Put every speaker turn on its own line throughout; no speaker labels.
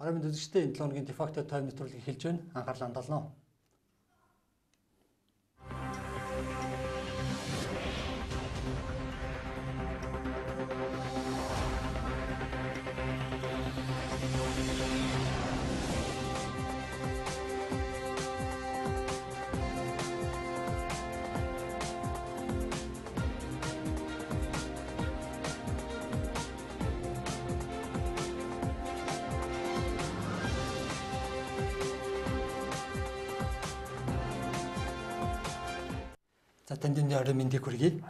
Арай мэд үзэгчдээ энэ 7 хоногийн дефакто тойм нэвтрүүлэг эхэлж байна. Анхаарлаа хандуулно. За танд энэ орой мэндийг хүргэе.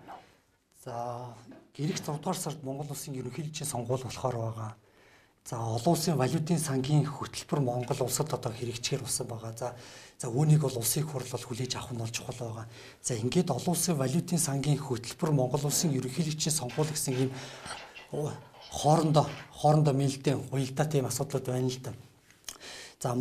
За гэрэх 6 дугаар сард Монгол улсын ерөнхийлөгчийн сонгуул болохоор байгаа. За олон улсын валютын сангийн хөтөлбөр Монгол улсад одоо хэрэгжихэр болсон байгаа. За үүнийг бол улсын хурл бол хүлээж авах нь бол чухал байгаа. За ингээд олон улсын валютын сангийн хөтөлбөр Монгол улсын ерөнхийлөгчийн сонгуул гэсэн ийм хоорондоо мэлдэн уялдаа тийм асуудлууд байна л да. За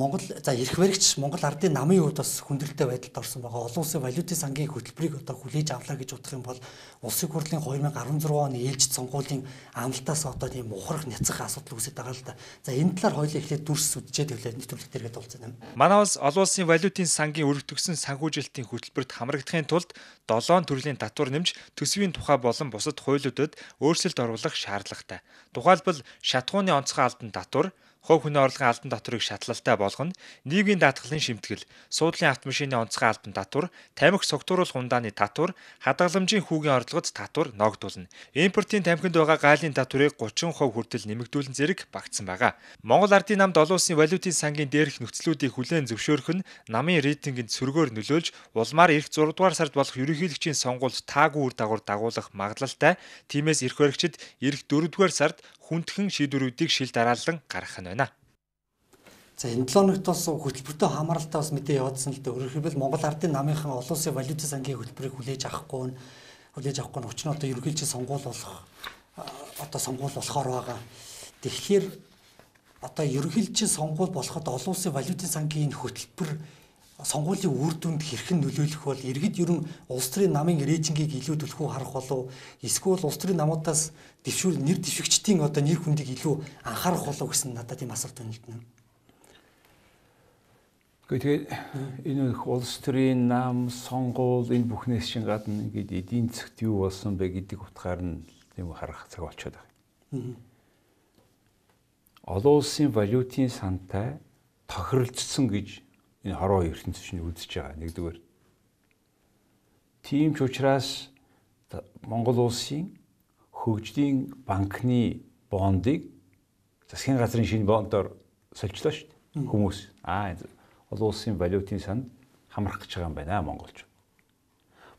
эрх баригч Монгол ардын намын хувьд бас хүндрэлтэй байдалд орсон байгаа. Олон улсын валютын сангийн хөтөлбөрийг одоо хүлээж авлаа гэж бодох юм бол улсын хурлын 2016 оны ээлжид сонгуулийн амлалтаас одоо тийм ухрах няцах асуудал үүсэж байгаа л да. За энэ талаар хоёулаа эхлээд дүрс үдчихэд хөвлөд нэвтрүүлэг дээргээ дуулсан юм.
Манай улс олон улсын валютын сангийн өргөдөгсөн санхүүжилтийн хөтөлбөрт хамрагдахын тулд 7 төрлийн татвар нэмж төсвийн тухай болон бусад хуулиудад өөрчлөлт оруулах шаардлагатай. Тухайлбал шатхууны онцгой албан татвар, хувь хүний орлогын албан татварыг шатлалтай болгоно, нийгмийн даатгалын шимтгэл, суудлын автомашины онцгой албан татвар, тамхи согтууруулах ундааны татвар, хадгаламжийн хүүгийн орлогод татвар ногдуулна. Импортын тамхинд байгаа гайлын татварыг 30% хүртэл нэмэгдүүлэн зэрэг багтсан байгаа. Монгол ардын намд олон улсын валютын сангийн дээрх нөхцлүүдийг хүлээн зөвшөөрөх нь намын рейтингэнд сөргөөр нөлөөлж, улмаар эх 6 дугаар сард болох ерөнхийлөгчийн сонгуульд таагүй үр дагавар дагуулах магадлалтай. Тиймээс эрх баригчид эх 4 дугаар сард хүндхэн шийдвэрүүдийг шил дараалан гаргах нь байна.
За энэ 7 хоногт бас хөтөлбөртөө хамааралтай бас мэдээ явуулсан л дээ. Өөрөөр хэлбэл Монгол ардын намынхан олон улсын валютын сангийн хөтөлбөрийг хүлээж авахгүй нь учир нь одоо ерөнхийлөгчийн сонгуул болохоор байгаа. Тэгэхээр одоо ерөнхийлөгчийн сонгуул болоход олон улсын валютын сангийн хөтөлбөр сонгуулийн үр дүнд хэрхэн нөлөөлөх бол иргэд ер нь улс төрийн намын рейтингийг илүү түлхүү харах болов эсвэл улс төрийн намуудаас нэр дэвшигчдийн одоо нэр хүндийг илүү анхаарах болов гэсэн надад тийм асуулт байна л дээ.
Тэгээд энэ улс төрийн нам сонгуул энэ бүхнээс чинь гадна ингээд эдийн засгт юу болсон бэ гэдэг утгаар нь тийм харах цаг болчиход байгаа. Олон улсын валютын сантай тохиролцсон гэж энэ хорвоо ертөнцийн чинь үзэж байгаа нэгдүгээр. Тийм ч учраас Монгол улсын хөгжлийн банкны бондыг засгийн газрын шинэ бондоор солилцлоо шүү дээ. Хүмүүс олон улсын валютын санд хамрах гэж байгаа юм байна монголч.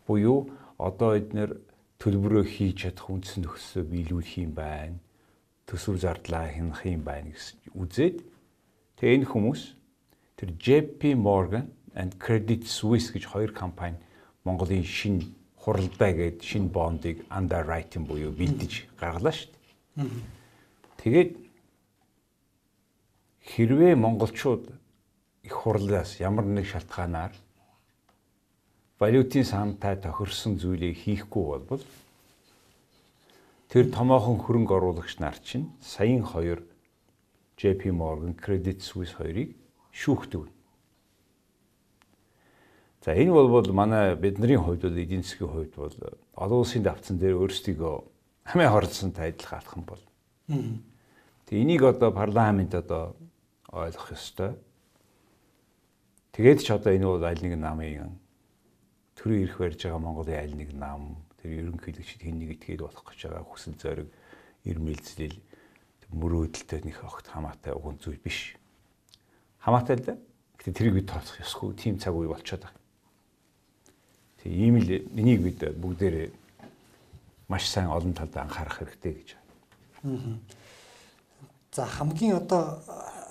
Буюу одоо эдгээр төлбөрөө хийж чадах үндсэн нөхцөлөө биелүүлэх юм байна. Төсөв зардлаа хянах юм байна гэсэн үзээд тэгээ энэ хүмүүс тэр JP Morgan and Credit Suisse гэж хоёр компани Монголын шинэ хуралдаа гээд шинэ бондыг underwriting буюу бэлдэж гаргалаа шүү дээ. Тэгээд хэрвээ монголчууд их хурлаас ямар нэг шалтгаанаар валютын сантай тохирсон зүйлийг хийхгүй бол тэр томоохон хөрөнгө оруулагч нар чинь саяын 2 JP Morgan Credit Suisse хоёрыг шүүхдэг. За энэ бол манай бидний хувьд бол эдийн засгийн хувьд бол олон улсын давтсан дээр өөрсдийгөө хамаа хорлсонтай адилхан алхам бол. Тэгээ энийг одоо парламент одоо ойлгох ёстой. Тэгээд ч одоо энэ бол аль нэг намын төрийн эрх барьж байгаа Монголын аль нэг нам тэр ерөнхийлөгчд хэн нэг итгээд болох гэж байгаа хүсэл зориг ирмэлцлэл мөрөөдөлтэй нэг огт хамаатай уган зүйл биш. Хамаатай л да. Гэтэ тэрийг бид тооцох ёсгүй. Тийм цаг үе болчиход байгаа. Тэг ийм л энийг бид бүгдээрээ маш сайн олон талд анхаарах хэрэгтэй гэж байна.
За хамгийн одоо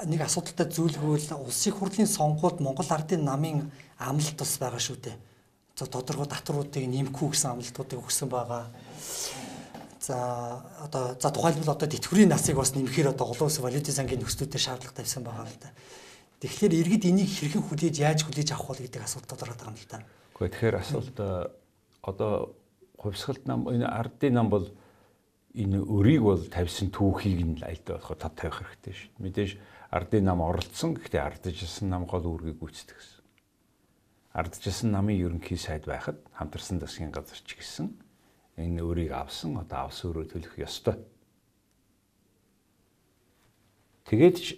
нэг асуудалтай зүйл хөвөл улсын хурлын сонгуульд Монгол ардын намын амлалт бас байгаа шүү дээ. За тодорхой татваруудыг нэмэхгүй гэсэн амлалтуудыг өгсөн байгаа. За тухайлбал одоо тэтгэврийн насыг бас нэмэхээр одоо олон улсын валютын сангийн нөхцлүүдэд шаардлага тавьсан байгаа л да. Тэгэхээр иргэд энийг хэрхэн яаж хүлээж авах вэ гэдэг асуулт тодорхой байгаа юм л да.
Тэгэхээр асуулт одоо хувьсгалт нам энэ ардын нам бол энэ өрийг бол тавьсан түүхийг нь альдаа болохоо тод тавих хэрэгтэй шүү. Мэдээж ардын нам оролцсон. Гэхдээ ардчилсан нам гол үүргийг гүйцэтгэх гэсэн. Ардчилсан намын ерөнхий сайд байхад хамтарсан засгийн газар ч гэсэн энэ өөрийг авсан одоо авс өөрөө төлөх ёстой. Тэгээд ч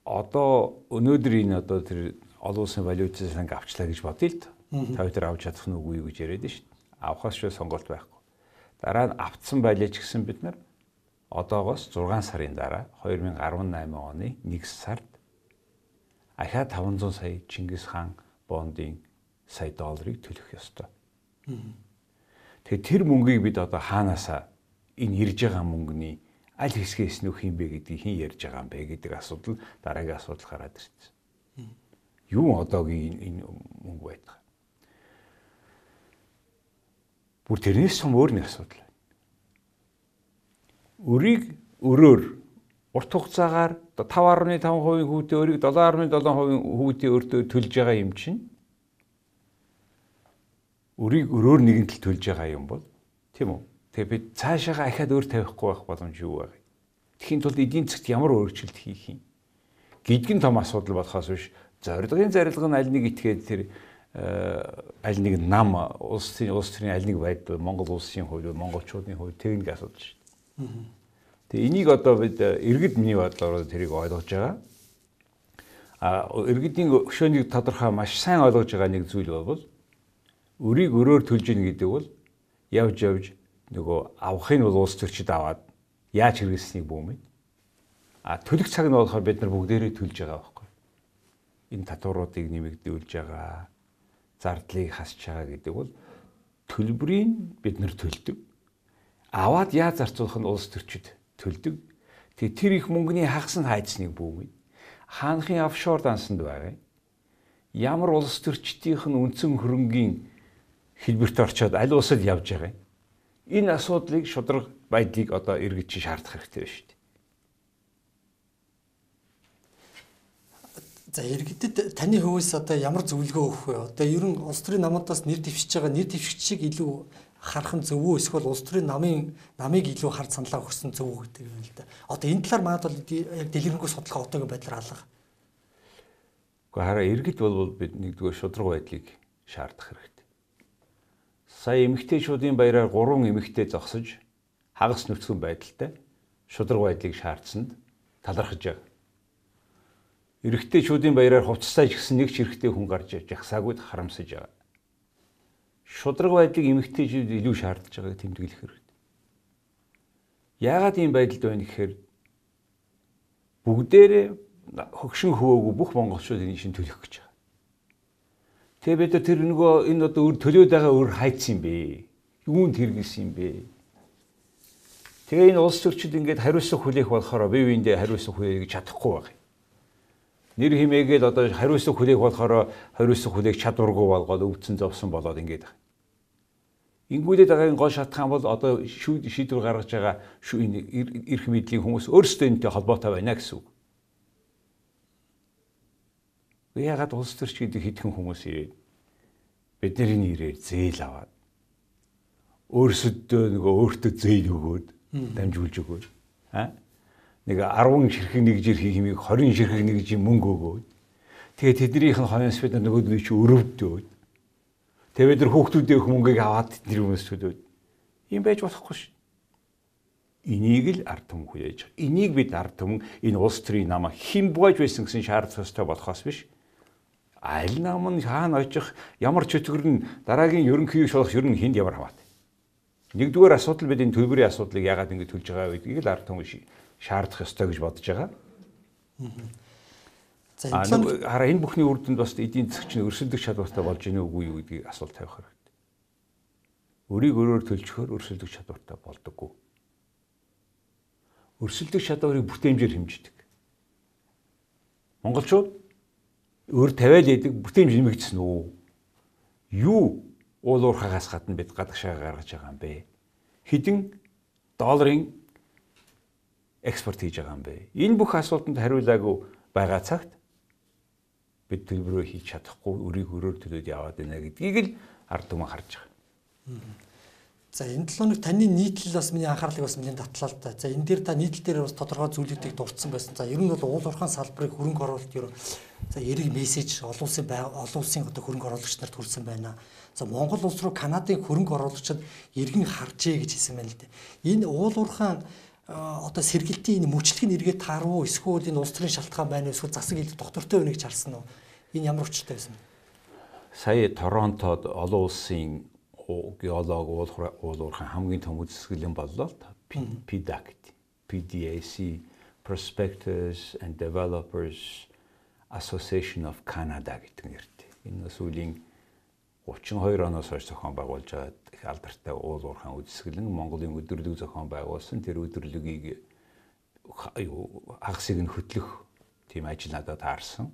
одоо өнөөдөр энэ одоо тэр олон улсын валютын санг авчлаа гэж бодъё л доо. Та хоёр авч чадах нь үгүй юу гэж яриад шүү дээ. Авахаас шүү сонголт байхгүй. Дараа нь автсан байлаа ч гэсэн бид нар одоогоос 6 сарын дараа 2018 оны 1 сард ахаа 500 сая Чингис хаан бондын сая долларыг төлөх ёстой. Тэгэхээр тэр мөнгийг бид одоо хаанаасаа энэ ирж байгаа мөнгөний аль хэсгээс нөх юм бэ гэдгийг хэн ярьж байгаа юм бэ гэдэг асуудал дараагийн асуудал гараад ирсэн. Юу одоогийн энэ мөнгө байдаг. Бүр тэрнээс сум өөр нэг асуудал байна. Өрийг өрөөр урт хугацаагаар 5.5% хүүтэй өрийг 7.7% хүүтэй өртөө төлж байгаа юм чинь өрийг өрөөр нэгэн тал төлж байгаа юм бол тийм үү? Тэгээ бид цаашаага ахаад өөр тавихгүй байх боломж юу вэ? Тэхийн тулд эдийн засгт ямар өөрчлөлт хийх юм? Гидгэн том асуудал болохоос биш зорилгын зарилга нь аль нэг итгээд тэр аль нэг нам улс төрийн аль нэг байдал Монгол улсын хувьд монголчуудын хувьд техник асуудал шүү дээ. Тэгээ энийг одоо бид иргэд миний бодлоор тэрийг ойлгож байгаа. Иргэдийн өшөөнийг тодорхой маш сайн ойлгож байгаа нэг зүйл бол өрийг өрөөр төлж ийн гэдэг бол явж нөгөө авахыг бол улс төрчид аваад яаж хэрэглэснийг бүүмэд. Төлөх цаг нь болохоор бид нар бүгдээрээ төлж байгаа байхгүй. Энэ татваруудыг нэмэгдүүлж байгаа, зардлыг хасж байгаа гэдэг бол төлбөрийг бид нар төлдөг. Аваад яаж зарцуулах нь улс төрчид төлдөг. Тэгээ тэр их мөнгөний хагас нь хайцсныг бүүмэд. Хаанхын офшор дансанд байгаа. Ямар улс төрчдийнх нь үндсэн хөрөнгийн хэлбэрт орчоод аль улсад явж байгаа юм. Энэ асуудлыг шударга байдлыг одоо иргэд чи шаардах хэрэгтэй байна шүү дээ.
За иргэдэд таны хөвөөс одоо ямар зөвлөгөө өгөх вэ? Одоо ер нь улс төрийн намуудаас нэр дэвшиж байгаа нэр дэвшигчийг илүү харах нь зөв үү? Эсвэл улс төрийн намыг илүү хард саналаа өгсөн зөв үү гэдэг юм л да. Одоо энэ талаар манайд бол яг дэлгэрэнгүй судлах одоогийн байдлаар алга.
Гэхдээ хараа иргэд бол бид нэгдүгээр шударга байдлыг шаардах хэрэгтэй. Сая эмэгтэйчүүдийн баяраар 3 эмэгтэй зогсож хагас нөхцөн байдалтай шударга байдлыг шаардсанд талархаж байгаа. Эрэгтэйчүүдийн баяраар хувцастай ч гэсэн нэг ч эрэгтэй хүн гарч жагсаагүй харамсаж байгаа. Шударга байдлыг эмэгтэйчүүд илүү шаардж байгааг тэмдэглэх хэрэгтэй. Яагаад ийм байдалд байна гэхээр бүгдээрээ хөгшин хөвөөгүй бүх монголчууд энэ шин төлөх гэж байгаа. Тэгээ бид тэр нөгөө энэ одоо өр төлөөд байгаа өр хайцсан юм бэ? Юунд хэрэгэлсэн юм бэ? Тэгээ энэ улс төрчид ингээд хариуцлага хүлээх болохоор бие биендээ хариуцлага хүлээх чадахгүй байгаа. Нэр хэмээгээд одоо хариуцлага хүлээх болохоор хариуцлага хүлээх чадваргүй болгоод өвдсөн зовсон болоод ингээд байгаа. Ингүүлээд байгаа гол шатхан бол одоо шийдвэр гаргаж байгаа энэ эрх мэдлийн хүмүүс өөрсдөө энэтэй холбоотой байна гэсэн үг. Яагаад улс төрч гэдэг хэдхэн хүмүүс ирээд бидний нэрээр зээл аваад өөрсдөө нөгөө өөртөө зээл өгөөд дамжуулж өгөөд нэг 10 ширхэг нэг жир хийх юмыг 20 ширхэг нэг жир мөнгө өгөөд тэгээ тэднийх нь хойноос бид нөгөөдний чи өрөвдөөд тэгээ бид нар хүүхдүүдийн мөнгийг аваад тэдний хүмүүс төлөөд юм байж болохгүй ш. Энийг л ард түмэн хүлээж байгаа. Энийг бид ард түмэн энэ улс төрийн намаа хэн бууж байсан гэсэн шаардлага ёстой болохоос биш. Аль нам нь хаана очих ямар чөтгөр нь дараагийн ерөнхий шулах ер нь хүнд ямар хамаатай. Нэгдүгээр асуудал бид энэ төлбөрийн асуудлыг яагаад ингэ төлж байгаа гэдгийг л ард түмэн шаардах ёстой гэж бодож байгаа. Хараа энэ бүхний үр дүнд бас эдийн засгч нь өрсөлдөх чадвартай болж ийнэ үгүй юу гэдгийг асуулт тавих хэрэгтэй. Өрийг өрөөр төлчихөөр өрсөлдөх чадвартай болдоггүй. Өрсөлдөх чадварыг бүтээмжээр хэмждэг. Монголчууд өр тавиал яадаг бүтээмж нэмэгдсэн үү? Юу уул уурхагаас гадна бид гадагшаа гаргаж байгаа юм бэ? Хэдэн долларын экспорт хийж байгаа юм бэ? Энэ бүх асуултанд хариулаагүй байгаа цагт бид төлбөрөө хийж чадахгүй өрийг өрөөр төлөөд яваад байна гэдгийг л ард түмэн харж байгаа.
За энэ 7 хоног таны нийтлэл бас миний анхаарлыг бас миний татлаа л да. За энэ дээр та нийтлэл дээр бас тодорхой зүйлүүдийг дурдсан байсан. За ер нь бол уул уурхайн салбарыг хөрөнгө оруулалт ер за эрэг мессеж олон улсын одоо хөрөнгө оруулагч нарт хүрсэн байна. За Монгол улс руу Канадын хөрөнгө оруулагчид эргэн харжээ гэж хэлсэн байна л да. Энэ уул уурхайн одоо сэргэлтийн энэ мөчлөг нь эргээд тааруу эсвэл энэ улс төрийн шалтгаан байна эсвэл засаг хил доктортой байна гэж харсан уу? Энэ ямар учиртай байсан бэ?
Сая Торонтод олон улсын геолог уул уурхайн хамгийн том үзэсгэлэн боллоо. PDAC, PDAC, Prospectors and Developers Association of Canada гэдэг нэртэй. Энэ сүүлийн 32 оноос хойш зохион байгуулж байгаа их алдартай уул уурхайн үзэсгэлэн Монголын өдөрлөг зохион байгуулсан. Тэр өдөрлөгийг хагасыг нь хөтлөх тийм ажил надад таарсан.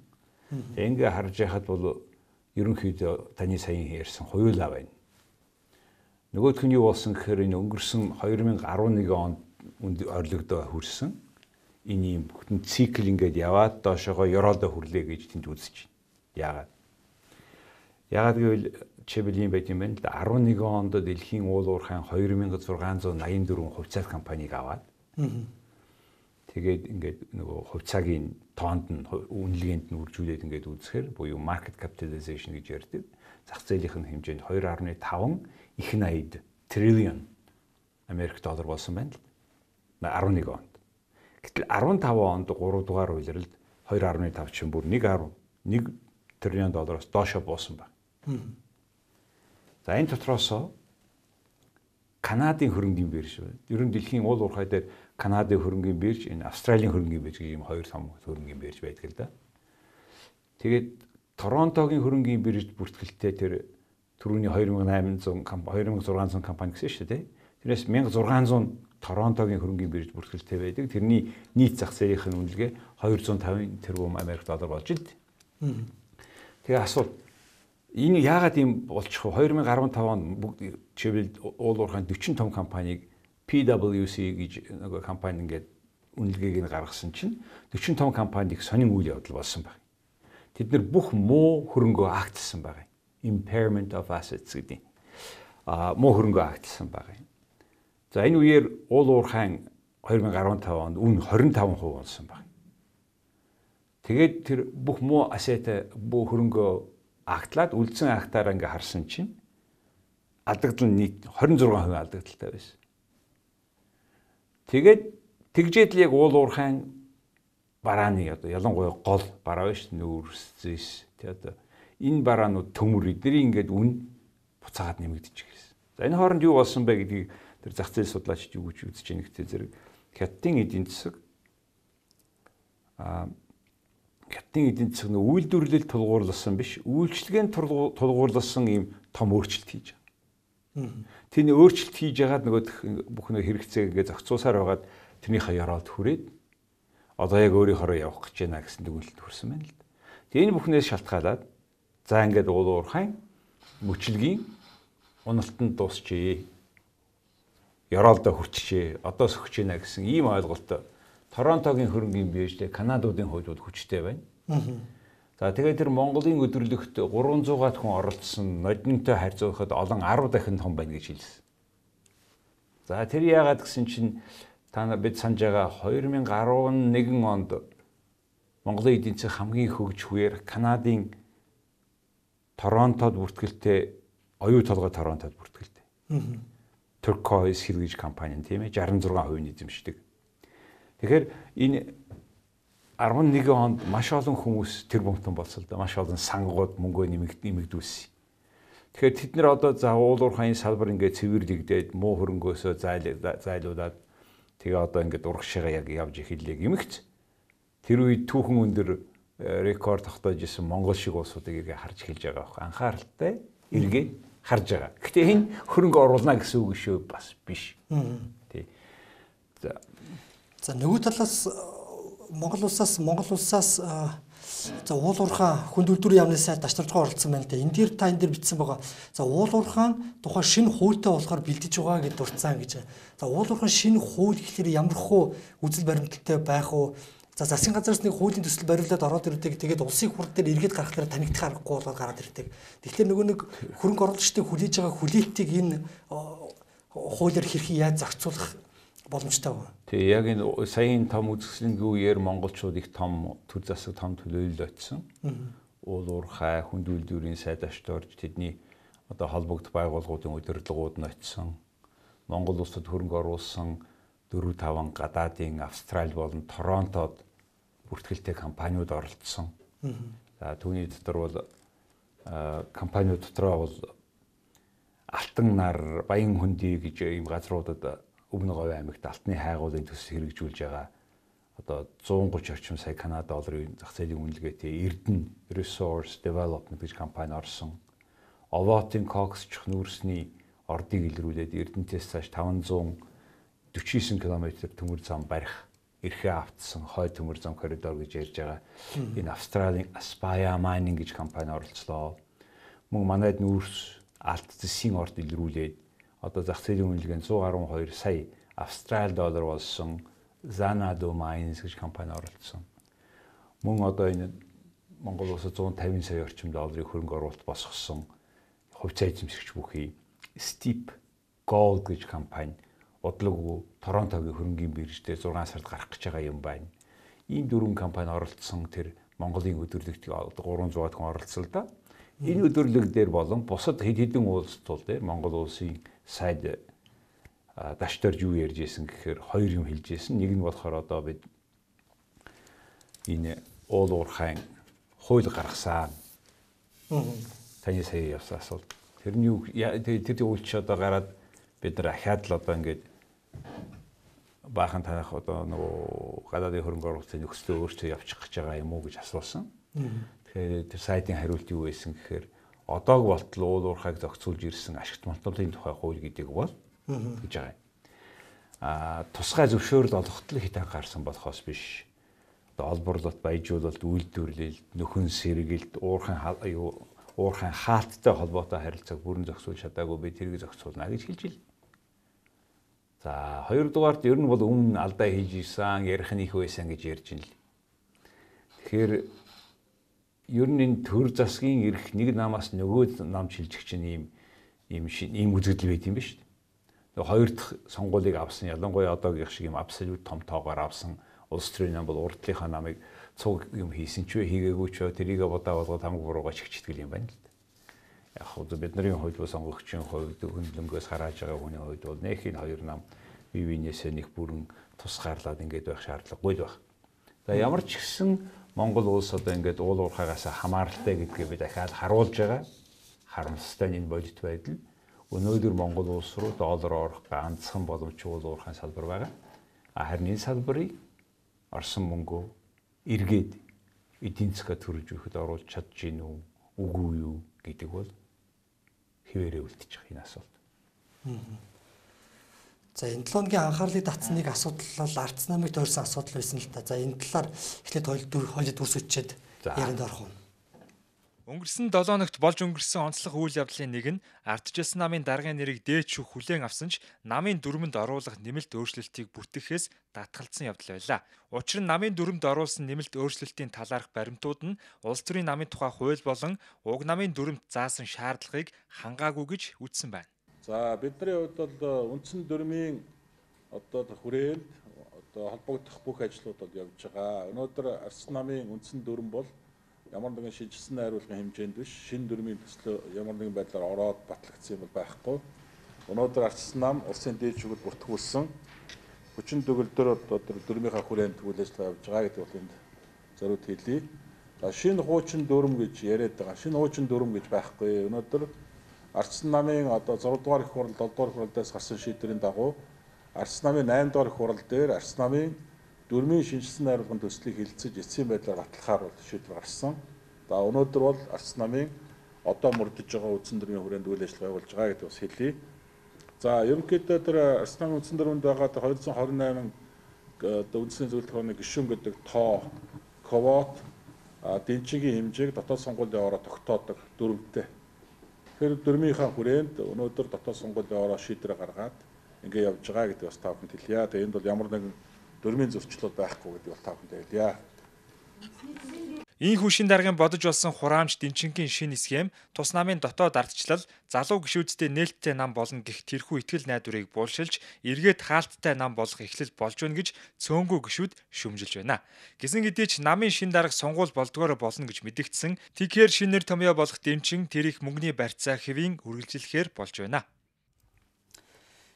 Ингээ харж яхад бол ерөнхийдөө таны саяхан ярьсан хоёулаа байна. Нөгөөх нь юу болсон гэхээр энэ өнгөрсөн 2011 онд орлогдоо хүрсэн. Энэ юм бүтэн цикл ингээд яваад доошоогоо ёроолоо хүрлээ гэж тэнд үзэж байна. Яагаад гэвэл чибэл юм байт юм байна л да. 11 онд дэлхийн уул уурхайн 2684 хувьцаат компанийг аваад тэгээд ингээд нөгөө хувьцаагийн тоонд нь үнэлгээнд нь үржүүлээд ингээд үзэхээр буюу market capitalization гэж ярьдаг. Зах зээлийнх нь хэмжээнд 2.5 их 80 триллион Америк доллар болсон байна л 11 онд. Гэтэл 15 онд 3 дугаар улиралд 2.5 чинь бүр 1.1 триллион доллароос доошо буусан байна. За энэ дотроос Канадын хөрөнгийн бирж байна. Ер нь дэлхийн уул уурхай дээр Канадын хөрөнгийн бирж, энэ Австралийн хөрөнгийн бирж гэх ийм хоёр том хөрөнгийн бирж байдаг л да. Тэгээд Торонтогийн хөрөнгийн биржд бүртгэлтэй тэр түрүүний 2600 компани гэсэн шүү дээ. Тэрнээс 1600 Торонтогийн хөрөнгийн бирж бүртгэлтэй байдаг. Тэрний нийт зах зээлийнх нь үнэлгээ 250 тэрбум Америк доллар болж илт. Тэгээ асуулт энэ яагаад юм болчих вэ? 2015 онд бүгд чивэл уул уурхайн 40 том компанийг PwC гэж нэг компани ингээд үнэлгээг нь гаргасан чинь 40 том компаниг сонин үйл явдал болсон байна. Тэд нар бүх муу хөрөнгөө агтлсан байна. Impairment of assets гэдэг. Муу хөрөнгөө агтлсан байна. За энэ үеэр уул уурхайн 2015 онд үн 25% болсон байна. Тэгээд тэр бүх муу asset бүх хөрөнгөө агтлаад үлдсэн агтаараа ингээ харсан чинь алдагдал нь нийт 26% алдагдaltaй байсан. Тэгээд тэгжээд л яг уул уурхайн барааны одоо ялангуяа гол бараа биш нүүрс тий одоо энэ бараанууд төмөр эдний ингээд үн буцаагаад нэмэгдэж гисэн. За энэ хооронд юу болсон бэ гэдгийг тэр зах зээл судлаачид юу гэж үзэж байгаа нэгтэй зэрэг хятадын эдийн засаг хятадын эдийн засаг нь үйлдвэрлэлд тулгуурласан биш үйлчлэгээнд тулгуурласан ийм том өөрчлөлт хийж байгаа. Тэний өөрчлөлт хийж ягаад нөгөө бүх нэг хэрэгцээг ингээ зохицуусаар байгаад тэрнийхээ ёроолд хүрээд одоо яг өөрийнхөө явах гэж байна гэсэн дүгнэлт хүрсэн байна л да. Тэгээ энэ бүхнээс шалтгаалаад за ингээд уул уурхайн мөчлөгийн уналтанд дуусчээ. Ёроолдоо хүрчээ. Одоо сөхөж байна гэсэн ийм ойлголт Торонтогийн хөрөнгийн биржтэй Канадуудын хувьд хүчтэй байна. За тэгээд тэр Монголын өдөрлөгт 300-аад хүн оролцсон нодинтой харьцуулахад олон 10 дахин том байна гэж хэлсэн. За тэр яагаад гэсэн чинь та нар бид санаж байгаа 2011 онд Монголын эдийн засаг хамгийн хөгжихүүр Канадын Торонтод бүртгэлтэй оюу толгой Торонтод бүртгэлтэй. Turquoise Hill гэж компани тийм ээ 66% эзэмшдэг. Тэгэхээр энэ 11 онд маш олон хүмүүс тэр бомтон болсон л да. Маш олон сангууд мөнгөө нэмэгдүүлсэн. Тэгэхээр тэд нар одоо за уул уурхайн салбар ингээд цэвэрлэгдээд муу хөрөнгөөсөө зайлуулаад тэгээ одоо ингээд урагшаага яг явж эхэллээ гэмэгц. Тэр үед түүхэн өндөр рекорд тогтоож исэн Монгол шиг улсуудыг иргээ харж эхэлж байгаа байхгүй. Анхааралтай иргээ харж байгаа. Гэхдээ энэ хөрөнгө оруулна гэсэн үг шүү бас биш. Тий.
За нөгөө талаас Монгол улсаас за уул уурхайн хүнд үйлдвэрийн яамны сайд дашнарчгаа оролцсон байна л да. Энэ дээр та энэ дээр бичсэн байгаа. За уул уурхайн тухай шинэ хуультай болохоор бэлдэж байгаа гэж дурдсан гэж. За уул уурхайн шинэ хууль гэхэлэр ямар хөө үзэл баримталтай байх уу? За засгийн газраас нэг хуулийн төсөл бариулаад ороод ирдэг. Тэгээд улсын хурд дээр эргээд гаргахлаар танигдах аргагүй болоод гараад ирдэг. Тэгэхээр нөгөө нэг хөрөнгө оруулагчдыг хүлээж байгаа хүлээлтийг энэ хуулиар хэрхэн яаж зохицуулах боломжтой вэ?
Тэгээ яг энэ саяын том үзэсгэлэнгийн үеэр монголчууд их том төр засаг том төлөөлөл очсон. Уул уурхай хүнд үйлдвэрийн сайд ашд орж тэдний одоо холбогд байгууллагуудын удирдлагууд нь очсон. Монгол улсад хөрөнгө оруулсан 4-5 гадаадын Австрали болон Торонтод бүртгэлтэй компаниуд оролцсон. За түүний дотор бол компаниуд дотроо бол Алтан нар, Баян хөндөй гэж ийм газруудад Өмнө Говь аймагт алтны хайгуулын төс хэрэгжүүлж байгаа одоо 130 орчим сая Канада долларын зах зээлийн үнэлгээтэй Эрдэнэ Resource Development гэж компани орсон. Овоотын кокс чухнүүрсний ордыг илрүүлээд Эрдэнэтээс цааш 549 км төмөр зам барих эрхээ автсан хой төмөр зам коридор гэж ярьж байгаа. Энэ Австралийн Aspire Mining гэж компани оролцлоо. Мөн манайд нүүрс алт зэсийн орд илрүүлээд одоо зах зээлийн үнэлгээ 112 сая Австрали доллар болсон Xanadu Mines гэж компани оролцсон. Мөн одоо энэ Монгол улсад 150 сая орчим долларын хөрөнгө оруулалт босгосон хувьцаа эзэмшигч бүхий Steep Gold гэж компани бодлого Торонтогийн хөрөнгийн бирждээ 6 сард гарах гэж байгаа юм байна. Ийм 4 компани оролцсон тэр Монголын өдөрлөгт 300 хүн оролцсон л да. Энэ өдөрлөг дээр болон бусад хэдэн улс тул дээр Монгол улсын сайд дашторж юу ярьж ирсэн гэхээр хоёр юм хэлж ирсэн. Нэг нь болохоор одоо бид энэ уул уурхайн хууль гаргасан. Таны сая явсан асуулт. Тэрний юу тэр үйлч одоо гараад бид нар ахаад л одоо ингээд баахан танах одоо нөгөө гадаадын хөрөнгө оруулалтын нөхцөлөө өөрчилж явчих гэж байгаа юм уу гэж асуусан. Тэгэхээр тэр сайтын хариулт юу байсан гэхээр одоог болтол уул уурхайг зохицуулж ирсэн ашигт малтуулын тухай хууль гэдэг бол гэж байгаа юм. Тусгай зөвшөөрөл олоход л хит анхаарсан болохоос биш. Одоо олборлолт, баяжуулалт, үйлдвэрлэлд, нөхөн сэргэлт, уурхайн хаалттай холбоотой харилцааг бүрэн зохицуулж чадаагүй би тэрийг зохицуулна гэж хэлж ил. За хоёрдугаарт ер нь бол өмнө алдаа хийж ирсэн, ярих нь их байсан гэж ярьж ин л. Тэгэхээр ер нь энэ төр засгийн эрх нэг намаас нөгөө нам шилжих чинь ийм үзэгдэл байт юм ба шүү дээ. Нөгөө хоёр дахь сонгуулийг авсан ялангуяа одоогийн шиг юм абсолют том тоогоор авсан улс төрийн нам бол урдлынхаа намыг цуг юм хийсэн ч вэ хийгээгүй ч тэрийг бодоо болгоод хамаг буруугаа чигчтгэл юм байна л да. Яг хөө бидний хувьд бол сонгогчийн хувьд хөндлөнгөөс харааж байгаа хүний хувьд бол нэх энэ хоёр нам бие биенээсээ нэг бүрэн тусгаарлаад ингэж байх шаардлагагүй л байх. За ямар ч гэсэн Монгол улс одоо ингээд уул уурхайгаас хамааралтай гэдгээ би дахиад харуулж байгаа. Харамсалтай энэ бодит байдал өнөөдөр Монгол улс руу доллар орох ганцхан боломжтой уул уурхайн салбар байгаа. Харин энэ салбарыг орсон мөнгөө эргээд эдийн засгаа төрөж өгөхөд оруулж чадж гин үү үгүй юу гэдэг бол хിവэрээ үлдчих энэ асуулт.
За энэ 7 өдрийн анхаарлыг татсан нэг асуудал бол ардс намыг тойрсон асуудал байсан л та. За энэ талаар эхлээд хоёул дүрс үтчихэд ярианд орох уу.
Өнгөрсөн 7 өнөخت болж өнгөрсөн онцлог үйл явдлын нэг нь ардчилсан намын даргын нэрийг дээд шүүх хүлээн авсан ч намын дүрмэнд оруулах нэмэлт өөрчлөлтийг бүтэхээс татгалзсан явдал байлаа. Учир нь намын дүрмэнд оруулсан нэмэлт өөрчлөлтийн талаарх баримтууд нь улс төрийн намын тухай хууль болон уг намын дүрмэд заасан шаардлагыг хангаагүй гэж үзсэн байна.
За бидний хувьд бол үндсэн дүрмийн одоо хүрээнд одоо холбогдох бүх ажлууд бол явж байгаа. Өнөөдөр ардс намын үндсэн дүрм бол ямар нэгэн шийдэлсэн найруулгын хэмжээнд биш шинэ дүрмийн төслөө ямар нэгэн байдлаар ороод батлагдсан юм байхгүй. Өнөөдөр ардс нам улсын дээд шүүхэд бүртгүүлсэн 40 төгөлдөр одоо дүрмийнхаа хүрээнд үйл ажиллагаа явж байгаа гэдэг бол энд зориуд хэлье. За шинэ хуучин дүрм гэж яриад байгаа. Шинэ хуучин дүрм гэж байхгүй. Өнөөдөр ардс намын одоо 6 дугаар их хурал 7 дугаар хуралдаас гарсан шийдвэрийн дагуу ардс намын 8 дугаар их хурал дээр ардс намын дүрмийн шинжилсэн найруулгын төслийг хилцэж эцсийн байдлаар батлахаар бол шийдвэр гарсан. За өнөөдөр бол ардс намын одоо мөрдөж байгаа үндсэн дүрмийн хүрээнд үйл ажиллагаа явуулж байгаа гэдэг бас хэлье. За ерөнхийдөө тэр ардс намын үндсэн дүрмэнд байгаа 228 одоо үндсний зөвлөлт хорны гишүүн гэдэг тоо ковот дэнчигийн хэмжээг дотоод сонгуулийн ороо тогтоодог дүрмтэй. Тэгэхээр дүрмийнхаа хүрээнд өнөөдөр дотоод сонгуулийн ороо шийдвэр гаргаад ингэ явж байгаа гэдэг бас та бүхэнд хэлье. Тэгээ энд бол ямар нэгэн дүрмийн зөрчлөл байхгүй гэдэг бол та бүхэнд хэлье.
Ийхүү шин даргын бодож болсон хураамж дэнчингийн шинэ схем тус намын дотоод ардчлал залуу гишүүдтэй нээлттэй нам болно гэх тэрхүү итгэл найдварыг буулшилж эргээд хаалттай нам болох эхлэл болж байна гэж цөөнгөө гишүүд шүмжилж байна. Гэсэн хэдий ч намын шин дарга сонгуул болдгоор болно гэж мэдэгдсэн. Тэгэхээр шин нэр томьёо болох дэмчин тэр их мөнгөний барьцаа хэвийн үргэлжлэхээр болж байна.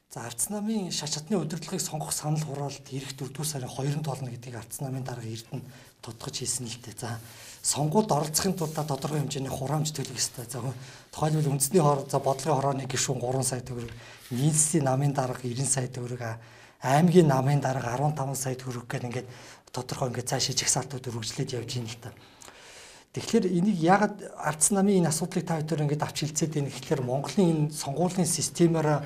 За Ардс намын шаш чадны удирдлагыг сонгох санал хураалт ирэх 4-р сарын 2-нд болно гэдгийг Ардс намын дарга Эрдэнэ тодтогч хэлсэн л дээ. За сонгуульд оролцохын тулд тодорхой хэмжээний хураамж төлөх ёстой. За тухайлбал үндэсний бодлогын хорооны гишүүн 3 сая төгрөг, нийслэлийн намын дарга 90 сая төгрөг, аймгийн намын дарга 15 сая төгрөг гэх ингээд тодорхой ингээд цаашаа жагсаалтууд үргэлжлээд явж байна л та. Тэгэхээр энийг яагаад Ардс намын энэ асуудлыг та бүхэн ингээд авч хэлцээд байна гэхээр Монголын энэ сонгуулийн системээр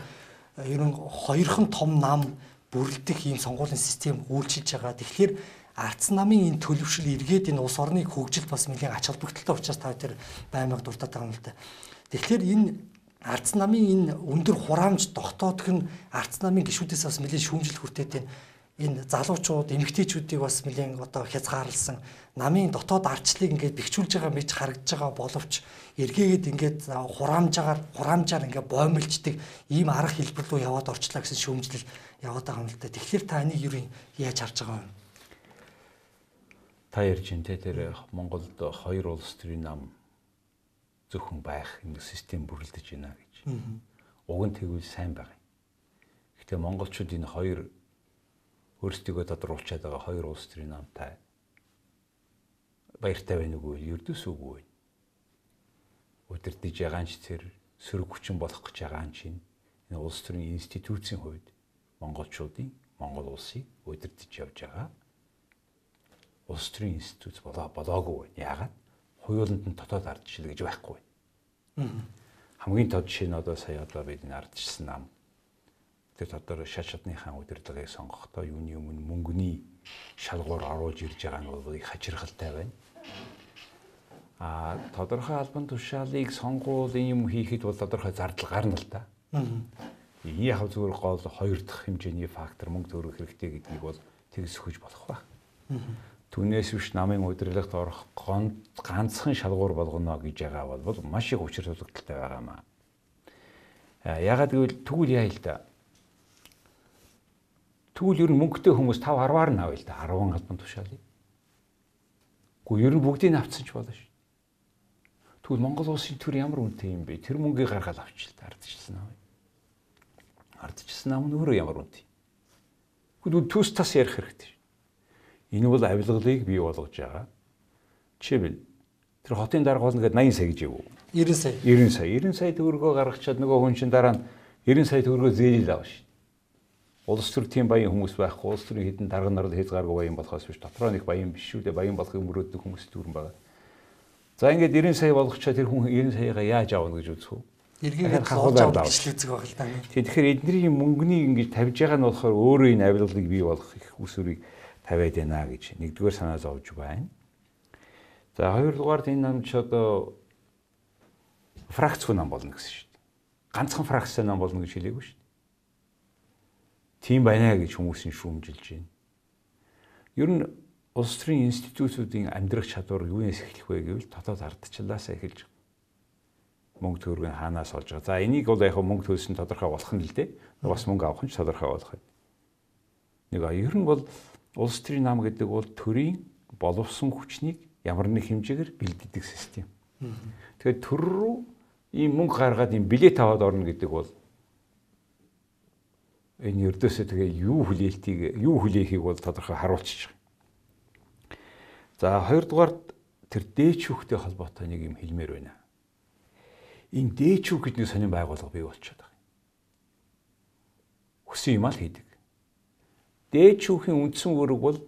ерөн хоёрхан том нам бүрэлдэх ийм сонгуулийн систем үйлчилж байгаа. Тэгэхээр Ардс намын энэ төлөвшил эргээд энэ улс орныг хөгжилд бас нэлээд ач холбогдолтой учраас та тэр баймаг дуртаад байгаа юм л да. Тэгэхээр энэ Ардс намын энэ өндөр хураамж тогтоодох нь Ардс намын гишүүдээс бас нэлээд шүүмжил хүртээд энэ залуучууд, эмэгтэйчүүдийг бас нэлээд одоо хязгаарлсан намын дотоод ардчлалыг ингээд бэхжүүлж байгаа мэж харагдж байгаа боловч эргээгээд ингээд хураамжаар ингээд боомлждаг ийм арга хэлбэр рүү яваад орчлаа гэсэн шүүмжлэл яваад байгаа юм л да. Тэгэхээр та энийг юу яаж харж байгаа юм?
Та ярьж энэ тэр Монголд хоёр улс төрийн нам зөвхөн байх энэ систем бүрэлдэж байна гэж. Уг нь тэгвэл сайн байгаа. Гэхдээ монголчууд энэ хоёр өөрсдөө тодруулчаад байгаа хоёр улс төрийн намтай баяртай байна уу гэвэл ердөөс үгүй байна. Удирдах ягаанч тэр сөрөг хүчин болох гэж байгаа юм чинь энэ улс төрийн институцийн хувьд монголчуудын Монгол улсыг удирдах явж байгаа улс төрийн институт болоогүй байна. Яагаад? Хуйланд нь дотоод ардчил гэж байхгүй байна. Хамгийн тод жишээ нь одоо сая бид энэ ардчилсан нам тэр дотор шаш чадныхаа удирдлагыг сонгохдоо юуны өмнө мөнгөний шалгуур оруулж ирж байгаа нь бол их хачирхалтай байна. Тодорхой албан тушаалыг сонгуулийн юм хийхэд бол тодорхой зардал гарна л да. Яг зүгээр гол хоёр дахь хэмжээний фактор мөнгө төгрөг хэрэгтэй гэдгийг бол тэгс өгч болох ба. Түүнээс биш намын удирдлагт орох ганцхан шалгуур болгоно гэж байгаа бол маш их учир тулгдaltaй байгаа юм аа. Ягаад гэвэл тэгвэл яа л да. Тэгвэл ер нь мөнгөтэй хүмүүс 5-10-аар нь авъя л да 10 албан тушаалыг. Гэхдээ ер нь бүгдийг авцсан ч болно шүү. Тэгвэл Монгол улсын төр ямар үнэтэй юм бэ? Тэр мөнгийг гаргаад авчих л да ардчилсан нам. Ардчилсан нам нь өөрөө ямар үнэтэй. Тэгвэл төс тас ярих хэрэгтэй шүү. Энэ бол авилгалыг бий болгож байгаа. Жишээлбэл тэр хотын дарга болно гэдэг 80 сая гэж юу? 90 сая. 90 сая төгрөгөө гаргачаад нөгөө хүн чинь дараа нь 90 сая төгрөгөө зээлэл авна шүү. Улс төр тийм баян хүмүүс байхгүй. Улс төрийн хэдэн дарга нарт хязгааргүй баян болохоос биш. Дотроо нэг баян биш шүү дээ. Баян болохыг мөрөөддөг хүмүүс төрөн байгаа. За ингээд 90 сая болгочоо тэр хүн 90 саягаа яаж авна гэж үзэх үү?
Эргээд хавуулаад авчихлээзэг байгаа л да.
Тэгэхээр эдний мөнгөний ингэж тавьж байгаа нь болохоор өөрөө энэ авилгалыг бий болгох их усүрийг тавиад байна гэж нэгдүгээр санаа зовж байна. За хоёрдугаар энэ нам ч одоо фракцгүй нам болно гэсэн шүү дээ. Ганцхан фракцтай нам болно гэж хэлээгүй шүү дээ. Тийм байна гэж хүмүүс нь шүүмжилж байна. Ер нь улс төрийн институтуудын амьдрах чадвар юунаас эхлэх вэ гэвэл дотоод ардчлалаас эхэлж мөнгө төгрөгийн хаанаас олж байгаа. За энийг бол яг мөнгө төлсөн тодорхой болох нь л дээ. Бас мөнгө авах нь ч тодорхой болох юм. Нэг ер нь бол улс төрийн нам гэдэг бол төрийн боловсон хүчнийг ямар нэг хэмжээгээр бэлддэг систем. Тэгэхээр төр рүү ийм мөнгө гаргаад ийм билет аваад орно гэдэг бол энэ ердөөсөө тэгээ юу хүлээхийг бол тодорхой харуулчих. За хоёрдугаар тэр дээчүүхтэй холбоотой нэг юм хэлмээр байна. Энэ дээчүүх гэдэг сонин байгууллага бий болчиход байгаа. Хүсэн юм аа л хийдэг. Дээчүүхийн үндсэн үүрэг бол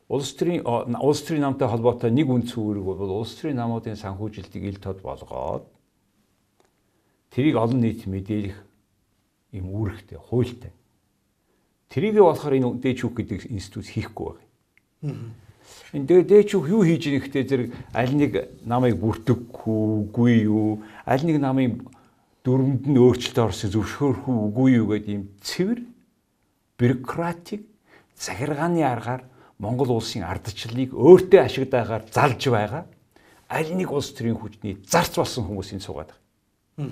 улс төрийн намтай холбоотой нэг үндсэн үүрэг бол улс төрийн намуудын санхүүжилтийг ил тод болгоод тэрийг олон нийт мэдээлэх юм үүрэгтэй, хуультай. Тэрийг болохоор энэ дээчүүх гэдэг институт хийхгүй байгаа. Энэ дээчүүх юу хийж ийн гэхдээ зэрэг аль нэг намыг бүртгэхгүй юу, аль нэг намын дүрмэнд нь өөрчлөлт орсон зөвшөөрөхгүй үгүй юу гэдэг ийм цэвэр бюрократик захиргааны аргаар Монгол улсын ардчлалыг өөртөө ашигладагаар залж байгаа аль нэг улс төрийн хүчний зарц болсон хүмүүсийн суугаад байгаа.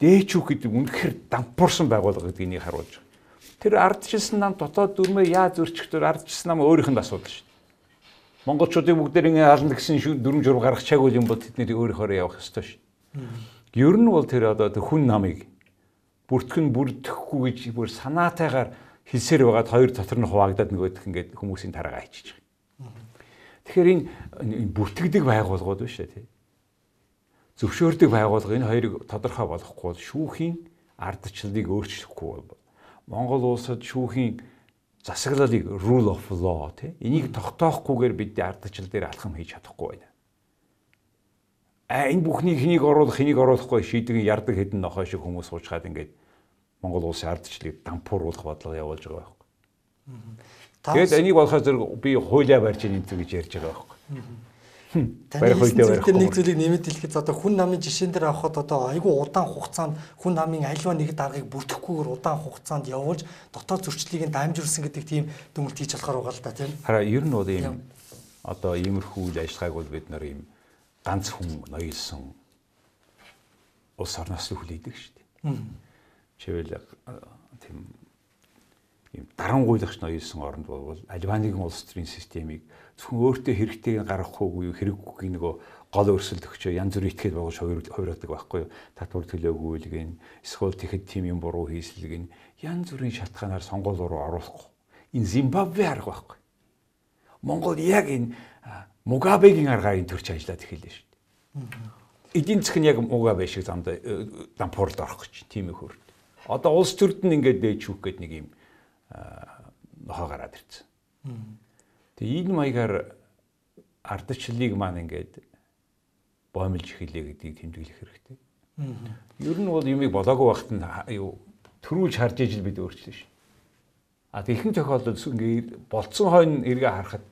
Дээчүүх гэдэг үнэхээр дампуурсан байгууллага гэдгийг харуулж байгаа. Тэр ардчилсан нам дотоод дүрмээ яаж зөрчихдөр ардчилсан нам өөрийнх нь асуудал шүү дээ. Монголчуудыг бүгдээр ингэ ална гэсэн дүрм журм гаргах чаггүй юм бол тэдний өөрийнхөө явах ёстой шүү. Ер нь бол тэр одоо хүн намыг бүртгэн бүрдэхгүй гэж бүр санаатайгаар хэлсээр байгаад хоёр дотор нь хуваагдаад нөгөөх ингээд хүмүүсийн тараагаа хийчих. Тэгэхээр энэ бүртгэдэг байгууллагууд биш үү? Зөвшөөрдөг байгууллага энэ хоёрыг тодорхой болохгүй бол шүүхийн ардчлалыг өөрчлөхгүй бол Монгол улсад шүүхийн засаглалыг rule of law энийг тогтоохгүйгээр бид ардчлал дээр алхам хийж чадахгүй байна. Энэ бүхний хэнийг оруулахгүй шийдэгэн ярддаг хэдэн нохой шиг хүмүүс суучгаад ингээд Монгол улсын ардчлалыг дампууруулах бодлого явуулж байгаа байхгүй. Тэгээд энийг болохоос зэрэг би хуулиа барьж ийн гэж ярьж байгаа байхгүй.
Таны хэлсэн нэг зүйлийг нэмэт хэлэхэд одоо хүн намын жишээн дээр авахад одоо айгүй удаан хугацаанд хүн намын аливаа нэг даргаыг бүрдэхгүйгээр удаан хугацаанд явуулж дотоод зөрчлийг нь дамжуулсан гэдэг тийм дүгнэлт хийж болохоор байгаа л да тийм.
Хараа ер нь бол ийм одоо иймэрхүү үйл ажиллагааг бол бид нар ийм ганц хүн ноёлсон улс орноос хүлээдэг шүү дээ. Чивэл тийм ийм дарангуйлагч ноёлсон оронд бол аливаа нэгэн улс төрийн системийг зөвхөн өөртөө хэрэгтэйг гаргахгүй хэрэггүй нөгөө гол өрсөлд өгчөө янз бүрийн этгээд байгуулж хувираадаг байхгүй юу? Татвар төлөөгүй л гин эсвэл тэгэхэд тийм юм буруу хийсэл гин янз бүрийн шалтгаанаар сонгуул руу оруулахгүй. Энэ Зимбабве арга байхгүй. Монгол яг энэ Мугабегийн аргаар энэ төрч ажиллаад эхэллээ шүү дээ. Эдийн засаг нь яг Мугабе шиг замдаа дампуурд орох гэж тийм их хөрд. Одоо улс төрд нь ингээд дээчүүх гээд нэг юм нохоо гараад ирсэн. Тэгээ энэ маягаар ардчлалыг маань ингээд боомлж эхэллээ гэдгийг тэмдэглэх хэрэгтэй. Ер нь бол юмыг болоогүй байхад нь төрүүлж харж ижил бид өөрчлөө шин. Тэгхэн тохиолдолд ингээд болцсон хойно эргээ харахад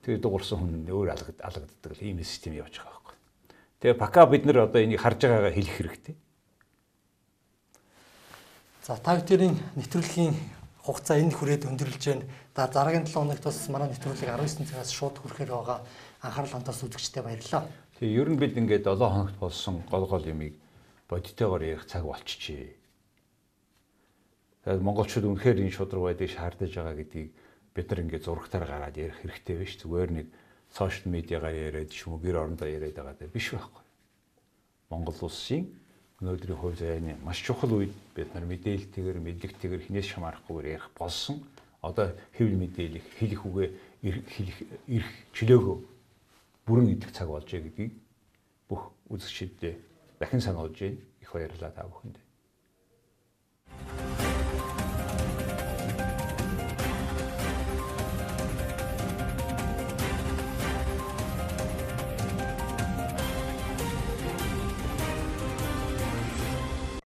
тэгээ дуурсан хүн өөр алгаддаг ийм систем явж байгаа байхгүй. Тэгээ пока бид нар одоо энийг харж байгаагаа хэлэх хэрэгтэй.
За та бүхэн нэвтрүүлгийн хугацаа энд хүрээд өндөрлж байна. Дараагийн 7 хоногт бас манай нэвтрүүлэг 19 цагаас шууд хүрэхээр байгаа. Анхаарал хандаас үзэгчдэд баярлалаа.
Тэгээ ер нь бид ингээд 7 хоногт болсон гол юмыг бодитойгоор ярих цаг болчихжээ. Тэгээд монголчууд үнэхээр энэ шудраг байдгийг шаардаж байгаа гэдгийг бид нар ингээд зурагтаар гараад ярих хэрэгтэй биш. Зүгээр нэг сошиал медиагаар яриад шүүм гэр орондоо яриад байгаа даа биш байхгүй. Монгол улсын өнөөдрийн хувь заяаны маш чухал үед бид нар мэдээлэлтэйгээр мэдлэгтэйгээр хинээс шамаарахгүйгээр ярих болсон. Одоо хэвлэл мэдээлэл хэлэх үгээ ирэх чөлөөгөө бүрэн идэх цаг болж байгаа гэдгийг бүх үзэгчдэд дахин сануулж байна. Их баярлалаа та бүхэнд.